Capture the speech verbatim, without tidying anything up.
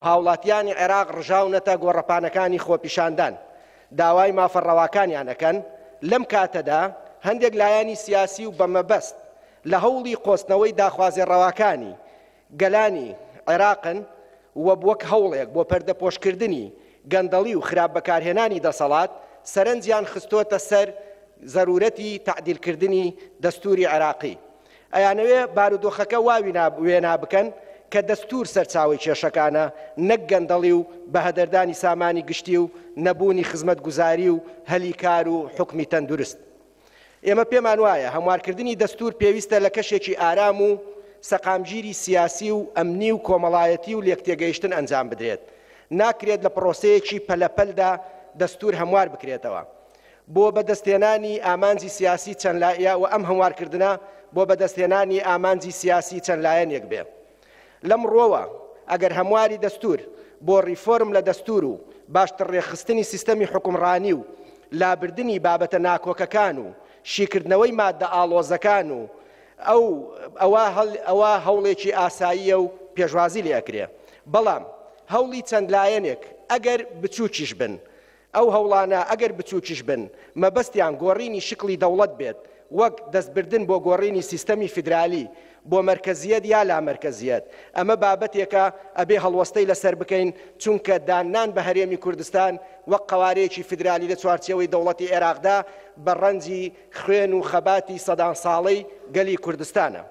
هاوڵاتیانی عێراق ڕژاونەتە گۆڕەپانەکانی خۆپیشاندان داوای مافە ڕەواکانیان ئەکەن، لەم کاتەدا هەندێک لایەنی سیاسی و بەمەبەست لە هەوڵی قۆستنەوەی داخوازی ڕەواکانی گەلانی عێراقن و وەک هەوڵێک بۆ پەردەپۆشکردنی گەندەڵی و خراپ بەکارهێنانی دەسەڵات سەرنجیان خستۆتە سەر زەرورەتی تەعدیلکردنی دەستوری عێراقی. ئەیانەوێ بارودۆخەکە وا وێنا بکەن کە دەستور سەرچاوەی کێشەکانە، نەک گەندەڵی و بەهەدەردانی سامانی گشتی و نەبوونی خزمەتگوزاری و هەلی کار و حکمی تەندروست. ئێمە پێمان وایە هەموارکردنی دەستور پێویستە لە کەشێکی ئارام و سەقامگیری سیاسی و ئەمنی و کۆمەڵایەتی و لێکتێگەیشتن ئەنجام بدرێت. ناکرێت لە پرۆسەیەکی پەلەپەلدا دەستور هەموار بکرێتەوە بۆ بەدەستهێنانی ئامانجی سیاسی چەند لایە و ئەم هەموارکردنە بۆ بەدەستهێنانی ئامانجی سیاسی چەند لایەنێک بێ. لەم ڕۆوە ئەگەر هەمواری دەستور بۆ ڕیفۆرم لە دەستور و باشتر ڕێکخستنی سیستەمی حکومڕانی و لابردنی بابەتە ناکۆکەکان و شیکردنەوەی مادە ئاڵۆزەکان و ئەو ئەوە هەوڵێکی ئاساییە و پێشوازی لێ ئەکرێ. بەڵام هەوڵی چەند لایەنێک ئەگەر بچووکیش بن، ئەو هەوڵانە ئەگەر بچووکیش بن مەبەستیان گۆڕینی شکڵی دەوڵەت بێت، وەک دەستبردن بۆ گۆڕینی سیستەمی فیدرالی بۆ مەرکەزیەت یا لامەرکەزیەت، ئەمە بابەتێکە ئەبێ هەڵوەستەی لەسەر بکەین، چونکە داننان بە هەرێمی کوردستان وەک قەوارەیەکی فیدرالی لە چوارچێوەی دەوڵەتی عێراقدا بە ڕەنجی خوێن و خەباتی سەدان ساڵەی گەلی کوردستانە.